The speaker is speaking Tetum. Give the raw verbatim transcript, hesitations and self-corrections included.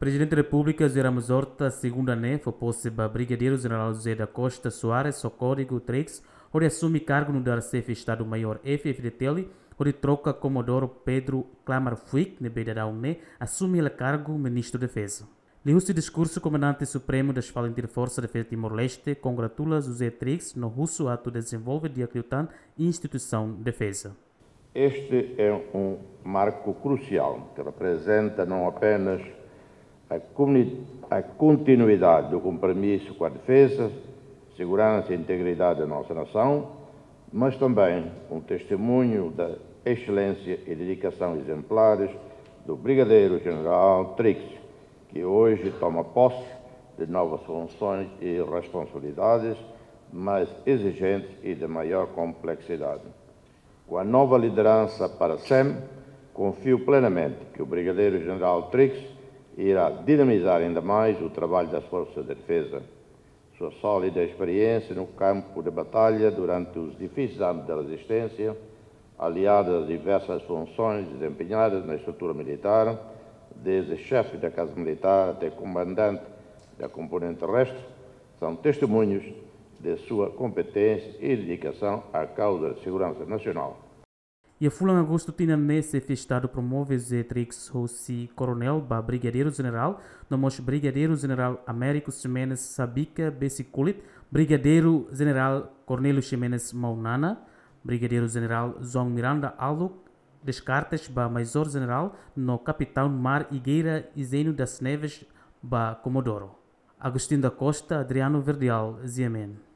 Prezidente Repúblika José Ramos Horta, segunda ne'e, fó pose ba Brigadeiru Jenerál José da Costa Soares ho kódigu Trix, hodi asume kargu nu'udar Xefe Estadu Maiór F-FDTL, hodi troka Komodoro Pedro Klamar Fuik, ne'ebé daudaun ne'e asume hela kargu Ministru Defeza. Liuhusi diskursu, Komandante Supremu das FALINTIL Forsa Defeza Timor-Leste kongratula José Trix no husu atu dezenvolve di'ak liután instituisaun defeza. Este é um marco crucial que representa não apenas a comuni-, a continuidade do compromisso com a defesa, segurança e integridade da nossa nação, mas também um testemunho da excelência e dedicação exemplares do Brigadeiro General Trix, que hoje toma posse de novas funções e responsabilidades mais exigentes e de maior complexidade. Com a nova liderança para a SEM, confio plenamente que o Brigadeiro General Trix irá dinamizar ainda mais o trabalho das Forças de Defesa. Sua sólida experiência no campo de batalha durante os difíceis anos da resistência, aliada às diversas funções desempenhadas na estrutura militar, desde chefe da Casa Militar até comandante da componente terrestre, são testemunhos de sua competência e dedicação à causa da segurança nacional. Iha fulan Agostu tinan ne'e, Xefe Estadu promove José Trix husi Koronél ba Brigadeiru Jenerál, no mós Brigadeiru Jenerál Américo Ximenes Sabica Besikulit, Brigadeiru Jenerál Cornélio Ximenes Maunana, Brigadeiru Jenerál João Miranda Aluk Descartes ba Maizór Jenerál, no Kapitaun Mar Higueira Izeno das Neves ba Komodoro. Agostinho da Costa, Adriano Verdial, G M N.